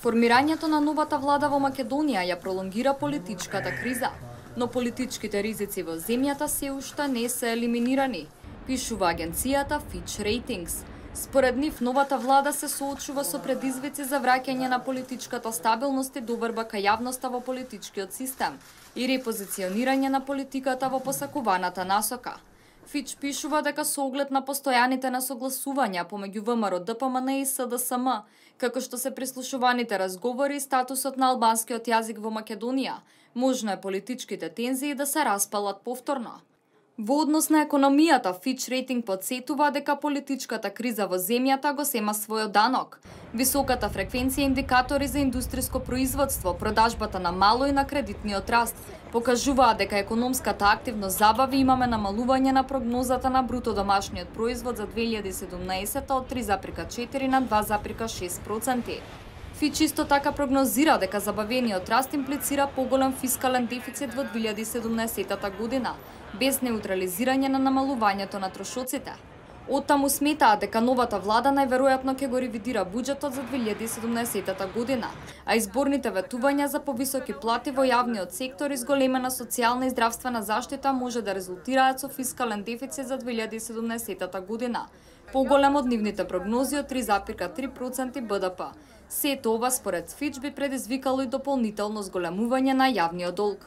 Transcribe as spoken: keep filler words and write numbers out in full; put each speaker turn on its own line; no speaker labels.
Формирањето на новата влада во Македонија ја пролонгира политичката криза, но политичките ризици во земјата се уште не се елиминирани, пишува агенцијата Fitch Ratings. Според нив, новата влада се соочува со предизвици за враќање на политичката стабилност и доврба кај јавноста во политичкиот систем и репозиционирање на политиката во посакуваната насока. Фич пишува дека со оглед на постојаните несогласувања помеѓу ВМРО-ДПМН и СДСМ, како што се прислушуваните разговори и статусот на албанскиот јазик во Македонија, можно е политичките тензии да се распалат повторно. Во однос на економијата, Fitch Rating подсетува дека политичката криза во земјата го сема својот данок. Високата фреквенција индикатори за индустриско производство, продажбата на мало и на кредитниот раст покажуваат дека економската активност забави имаме намалување на прогнозата на бруто домашниот производ за две илјади и седумнаесета од три запирка четири на два запирка шест проценти. Фич исто така прогнозира дека забавениот раст имплицира поголем фискален дефицит во две илјади и седумнаесетата година, без неутрализирање на намалувањето на трошоците. Оттаму сметаат дека новата влада најверојатно ќе го ревидира буџетот за две илјади и седумнаесетата година, а изборните ветувања за повисоки плати во јавниот сектор и зголемена социјална и здравствена заштита може да резултираат со фискален дефицит за две илјади и седумнаесетата година, поголем од нивните прогнози од три запирка три проценти Б Д П. Сето ова според Фич би предизвикало и дополнително зголемување на јавниот долг.